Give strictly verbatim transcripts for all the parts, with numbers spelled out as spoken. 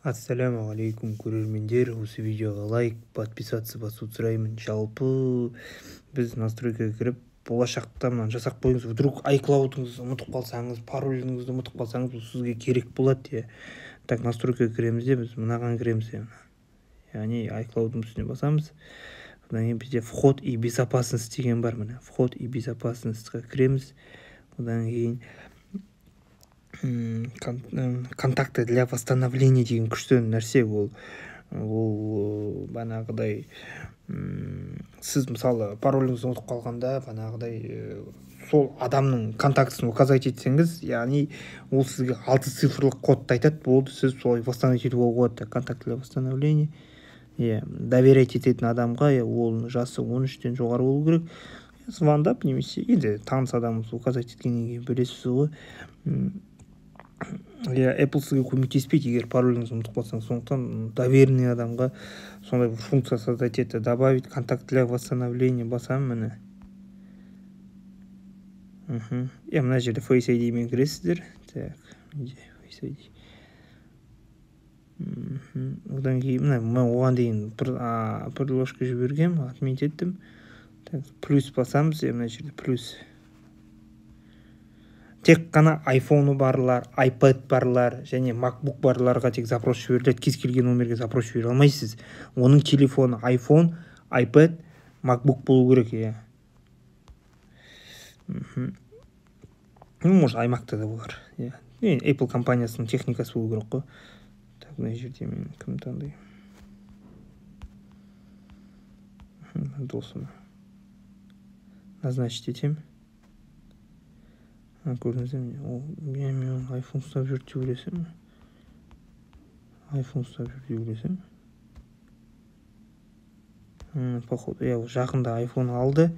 Ассаламу алейкум, көрермендер. Осы видеоға лайк, подписаться басуды сұраймын. Жалпы біз настройкаға кіріп, болашақта мынаны жасап қойыңыз. Вдруг iCloud'ыңызды ұмытып қалсаңыз, пароліңізді ұмытып қалсаңыз, бұл сізге керек болады. Так, настройкаға кіреміз де, біз мынаған кіреміз. Яғни iCloud'ың үстіне басамыз. Одан кейін бізде вход и безопасность деген бар. Міне вход и безопасностьқа кіреміз. Одан кейін контакты для восстановления деген күшті нәрсе. Ол ол банағыдай сіз мысалы пароліңізді ұмытып қалғанда банағыдай сол адамның контактысын указать етсеңіз, яғни ол сізге алты цифрлық кодты айтады, болды, сіз солай восстановить етуге болады. Контакт для восстановления. Е, доверять ететін адамға, ол жасы он үштен жоғары болу керек. Звондап немесе енді таныс адамымыз указать еткеннен кейін білесіз ғой. Я Apple сізге көмектеспейді, егер пароліңізді ұмытып қалсаңыз. Сондықтан доверенный адамға сондай бір функция создать етті. Добавить контакт для восстановления басам міне. Е, мына жерде Face ай ди мен кіресіздер. Так, Face ай ди. Одан кейін мына мен оған дейін приложка жібергем, отметь еттім. Так, плюс басамыз, мына жерде плюс. Тек қана iPhone барлар, iPad барлар және MacBook барларға тек запрос жіберіледі. Кез келген номерге запрос жібере алмайсыз. Оның телефоны iPhone, iPad, MacBook болу керек. Е. Ну, может, iMac-та да болар. Е. Apple компаниясының техникасы болу керек қой. Так, мына жерде мен кім таңдаймын? Досым. Назначить етем. Көрдіңіздер ме? Мен мен iPhone ұстап жүр деп ойласам. iPhone ұстап жүр деп ойласам. Походу, я жақында iPhone алды.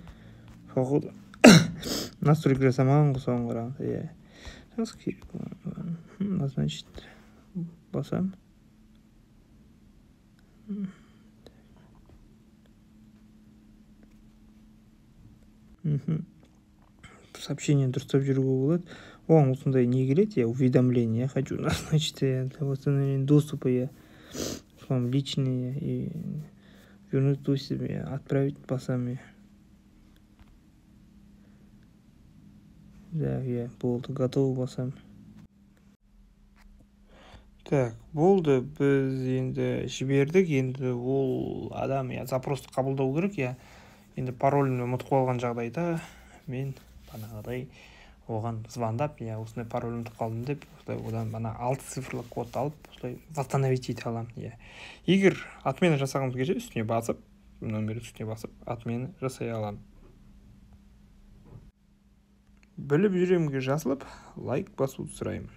Походу, настройка жасамаған ғой соған қарағанда. Назначить басам. Сообщение дұрыстап жүруге болады. Оған осындай не келеді? Я уведомление. Я хочу назначить для восстановления доступа. Я вам личные и вернуть то себе, отправить басам. Да, я болды, готов басам. Так, болды, біз енді жібердік. Енді ол адам я запросты қабылдау керек. Я енді паролімді ұмытып қалған жағдайда мен банағыдай оған звондап, я осындай пароль ұмытып қалдым деп, одан бана алты цифрлық код алып, осылай восстановить ете аламын. Егер отмена жасағымыз келсе, үстіне басып, номер үстіне басып, отмена жасай аламын. Біліп жүремге жазылып, лайк басуды сұраймын.